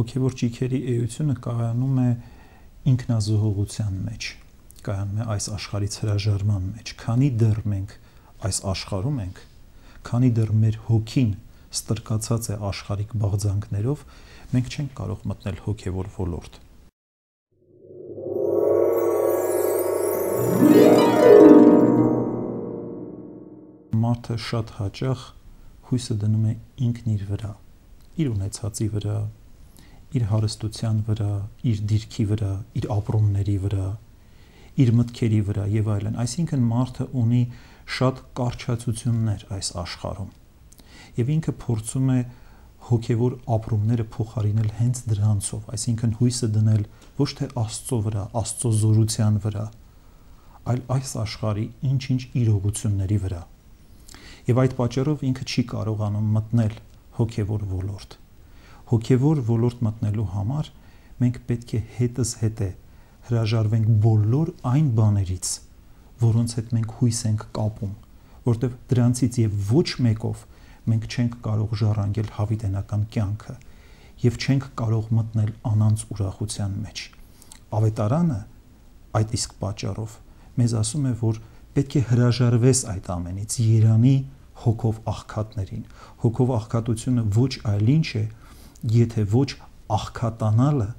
հոգևոր ճիգերի էությունը կայանում է ինքնազոհողության մեջ, կայանում է այս աշխարհից հրաժարման մեջ, քանի դեռ մենք այս աշխարհում ենք, քանի դեռ մեր հոգին ստրկացած է աշխարհիկ բաղձանքներով, մենք չենք կարող մտնել հոգևոր ոլորտ։ Մարդը շատ հաճախ հույսը դնում է ինքն իր վրա, իր ունեցածի վրա, իր հարստության վրա, իր դիրքի վրա, իր ապրումների վրա, իր մտքերի վրա եւ այլն։ Այսինքն մարդը ունի շատ կարճացություններ այս աշխարհում եւ ինքը փորձում է հոգևոր ապրումները փոխարինել հենց դրանցով, այսինքն հույսը դնել ոչ թե Աստծո վրա, Աստծո զորության վրա, այլ այս աշխարհի ինչ-ինչ իրողությունների վրա։ Եվ այդ պատճառով ինքը չի կարողանում մտնել հոգևոր ոլորտ։ Հոգևոր ոլորտ մտնելու համար մենք պետք է հետզհետե հրաժարվենք բոլոր այն բաներից, որոնց հետ մենք հույս ենք կապում, որտեղ դրանցից եւ ոչ մեկով մենք չենք կարող ժառանգել հավիտենական կյանքը եւ չենք կարող մտնել անանց ուրախության մեջ։ Ավետարանը այդ իսկ պատճառով մեզ ասում է, որ պետք է հրաժարվես այդ ամենից, երանի հոգով աղքատներին։ Հոգով աղքատությունը ոչ այլ ինչ է, եթե ոչ աղքատանալը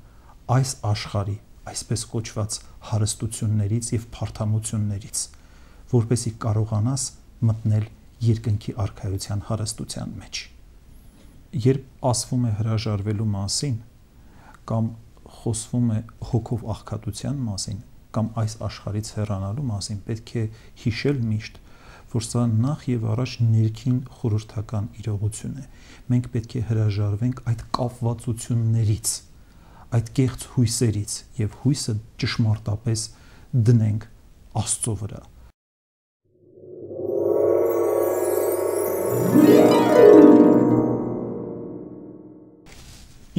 այս աշխարհի, այսպես կոչված հարստություններից եւ փարթամություններից, որպեսզի կարողանաս մտնել երկնքի արքայության հարստության մեջ։ Երբ ասվում է հրաժարվելու մասին, կամ խոսվում է հոգով աղքատության մասին, կամ այս աշխարհից հեռանալու մասին, պետք է հիշել միշտ, որ սա նախ եւ առաջ ներքին խորհրդական իրողություն է։ Մենք պետք է հրաժարվենք այդ կապվածություններից, այդ կեղծ հույսերից եւ հույսը ճշմարտապես դնենք Աստծո վրա։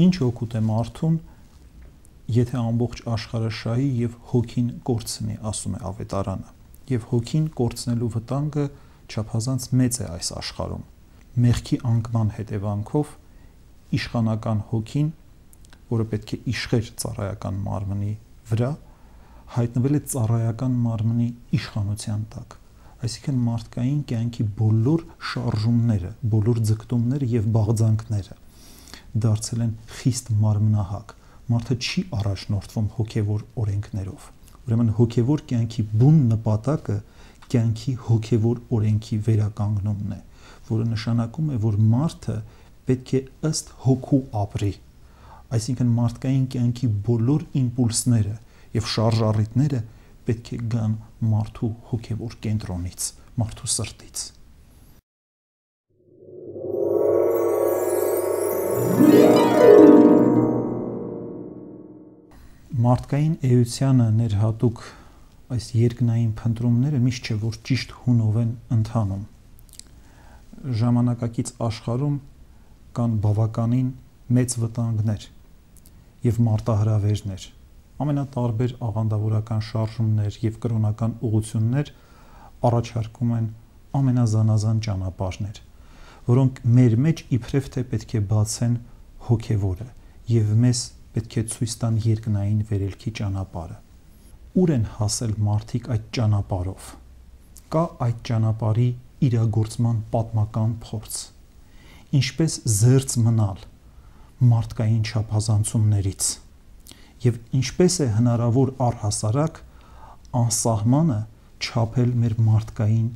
Ինչ օգուտ է մարդուն, եթե ամբողջ աշխարհը շահի եւ հոգին կորցնի, ասում է ավետարանը։ Եվ հոգին կորցնելու վտանգը չափազանց մեծ է այս աշխարհում։ Մեղքի անկման հետևանքով իշխանական հոգին, որը պետք է իշխեր ծառայական մարմնի վրա, հայտնվել է ծառայական մարմնի իշխանության տակ։ Այսինքն մարդկային կյանքի բոլոր շարժումները, բոլոր ձգտումները եւ բաղձանքները դարձել են խիստ մարմնահակ։ Մարդը չի առաջնորդվում հոգևոր օրենքներով։ Ուրեմն հոգևոր կյանքի բուն նպատակը կյանքի հոգևոր օրենքի վերականգնումն է, որը նշանակում է, որ մարդը պետք է ըստ հոգու ապրի։ Այսինքն մարդկային կյանքի բոլոր իմպուլսները եւ շարժառիթները պետք է գան մարդու հոգևոր կենտրոնից, մարդու սրտից։ Մարդկային էությանը ներհատուկ այս երկնային փնտրումները միշտ չէ, որ ճիշտ հունով են ընթանում։ Ժամանակակից աշխարհում կան բավականին մեծ վտանգներ եւ մարտահրավերներ, ամենատարբեր աղանդավորական շարժումներ եւ կրոնական ուղղություններ առաջարկում են ամենազանազան ճանապարհներ, որոնք մեր մեջ իբրև թե պետք է բացեն հոգևորը եւ մեզ պետք է ցույց տան երկնային վերելքի ճանապարհը։ Ուր են հասել մարդիկ այդ ճանապարհով։ Կա այդ ճանապարհի իրագործման պատմական փորձ։ Ինչպես զերծ մնալ մարդկային չափազանցումներից եւ ինչպես է հնարավոր առհասարակ անսահմանը չափել մեր մարդկային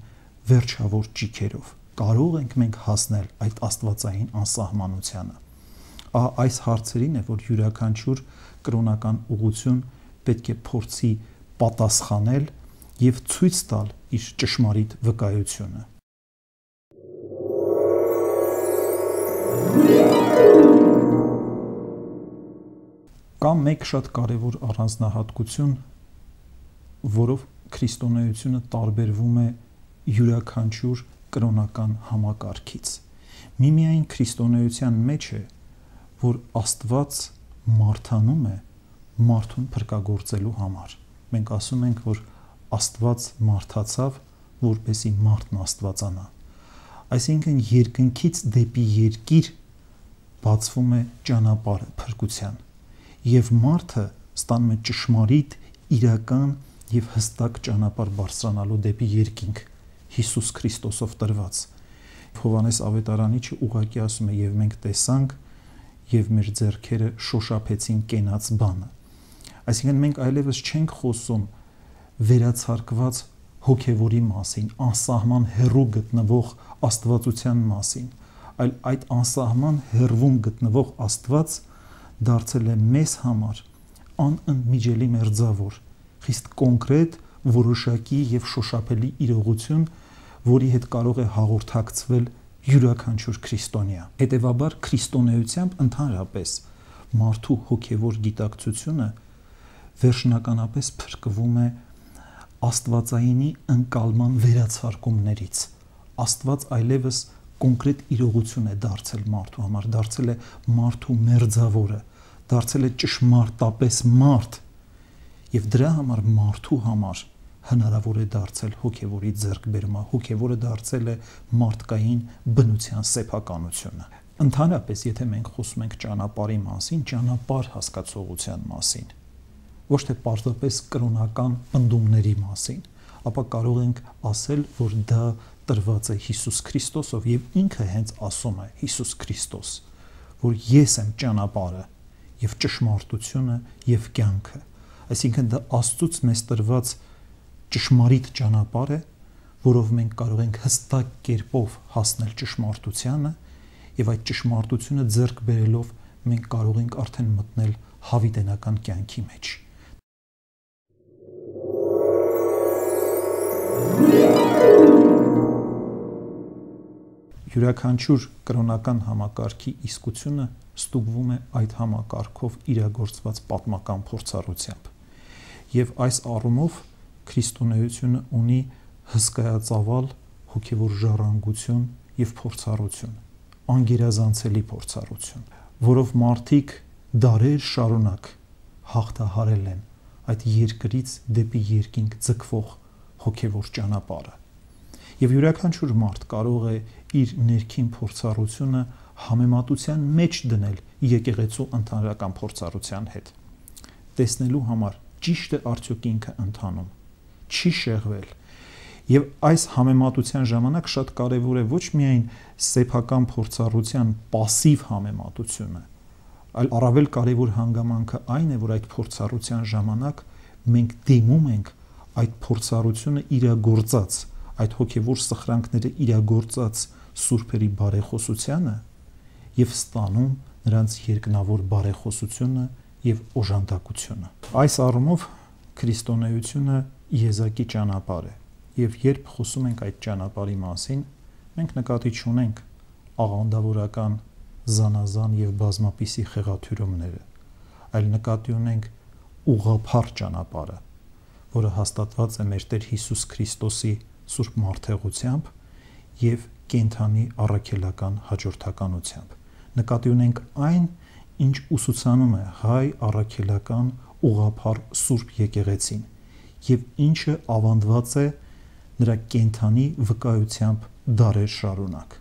վերջավոր ճիգերով։ Կարող ենք մենք հասնել այդ աստվածային անսահմանությանը։ Այս հարցերին է, որ յուրաքանչյուր կրոնական ուղղություն պետք է փորձի պատասխանել եւ ցույց տալ իր ճշմարիտ վկայությունը։ Կա մեկ շատ կարևոր առանձնահատկություն, որով քրիստոնեությունը տարբերվում է յուրաքանչյուր կրոնական համակարգից։ Միմիայն քրիստոնեության մեջ է, որ Աստված մարդանում է մարդուն փրկagorցելու համար։ Մենք ասում ենք, որ Աստված մարդացավ, որպեսզի մարդն աստվածանա։ Այսինքն երկնքից դեպի երկիր բացվում է ճանապարհը փրկության, եւ մարդը ստանում է ճշմարիտ, իրական եւ հստակ ճանապարհ բարձրանալու դեպի երկինք Հիսուս Քրիստոսով տրված։ Հովհաննես Ավետարանիչը ուղղակի ասում է, եւ մենք տեսանք եւ մեր ձեռքերը շոշափեցին կենաց բանը։ Այսինքն մենք այլևս չենք խոսում վերացարկված հոգևորի մասին, անսահման հեռու գտնվող աստվածության մասին, այլ այդ անսահման հեռվում գտնվող Աստված դարձել է մեզ համար անընդմիջելի մերձավոր, խիստ կոնկրետ, որոշակի եւ շոշափելի իրողություն, որի հետ կարող է հաղորդակցվել յուրաքանչյուր քրիստոնյա։ Հետևաբար քրիստոնեությամբ ընդհանրապես մարդու հոգևոր գիտակցությունը վերջնականապես փրկվում է աստվածայինի ընկալման վերացարկումներից։ Աստված այլևս կոնկրետ իրողություն է դարձել մարդու համար, դարձել է մարդու մերձավորը, դարձել է ճշմարտապես մարդ, եւ դրա համար մարդու համար հնարավոր է դարձել հոգևորի ձեռքբերումը, հոգևորը դարձել է մարդկային բնության սեփականությունը։ Ընդհանրապես, եթե մենք խոսում ենք ճանապարհի մասին, ճանապարհ հասկացողության մասին, ոչ թե պարզապես կրոնական պնդումների մասին, ապա կարող ենք ասել, որ դա տրված է Հիսուս Քրիստոսով, եւ ինքը հենց ասում է Հիսուս Քրիստոս, որ ես եմ ճանապարհը եւ ճշմարտությունը եւ կյանքը։ Այսինքն դա Աստծուց մեզ տրված ճշմարիտ ճանապարհ է, որով մենք կարող ենք հստակ կերպով հասնել ճշմարտությանը, եւ այդ ճշմարտությունը ձեռք բերելով մենք կարող ենք արդեն մտնել հավիտենական կյանքի մեջ։ Յուրաքանչյուր կրոնական համակարգի իսկությունը ստուգվում է այդ համակարգով իրագործված պատմական փորձառությամբ, եւ այս առումով քրիստոնեությունը ունի հսկայածավալ հոգևոր ժառանգություն եւ փորձառություն, անգերազանցելի փորձառություն, որով մարդիկ դարեր շարունակ հաղթահարել են այդ երկրից դեպի երկինք ձգվող հոգևոր ճանապարհը։ Եվ յուրաքանչյուր մարդ կարող է իր ներքին փորձառությունը համեմատության մեջ դնել եկեղեցու ընդհանրական փորձառության հետ, տեսնելու համար ճիշտ է արդյոք ինքը ընթանում, չի շեղվել։ Եվ այս համեմատության ժամանակ շատ կարևոր է ոչ միայն սեփական փորձառության пассив համեմատությունը, այլ առավել կարևոր հանգամանքը այն է, որ այդ փորձառության ժամանակ մենք դիմում ենք այդ փորձառությունը իրագործած, այդ հոգևոր սխրանքները իրագործած սուրբերի բարեխոսությանը եւ ստանում նրանց երկնավոր բարեխոսությունը եւ օժանդակությունը։ Այս առումով քրիստոնեությունը եզակի ճանապարհ է, եւ երբ խոսում ենք այդ ճանապարհի մասին, մենք նկատի չունենք աղանդավորական զանազան եւ բազմապիսի խեղաթյուրումները, այլ նկատի ունենք ուղղափառ ճանապարհը, որը հաստատված է մեր Տեր Հիսուս Քրիստոսի սուրբ մարդեղությամբ եւ կենթանի առաքելական հաջորդականությամբ։ Նկատի ունենք այն, ինչ ուսուցանում է հայ առաքելական ուղղափառ սուրբ եկեղեցին եւ ինչը ավանդված է նրա կենթանի վկայությամբ դարեր շարունակ։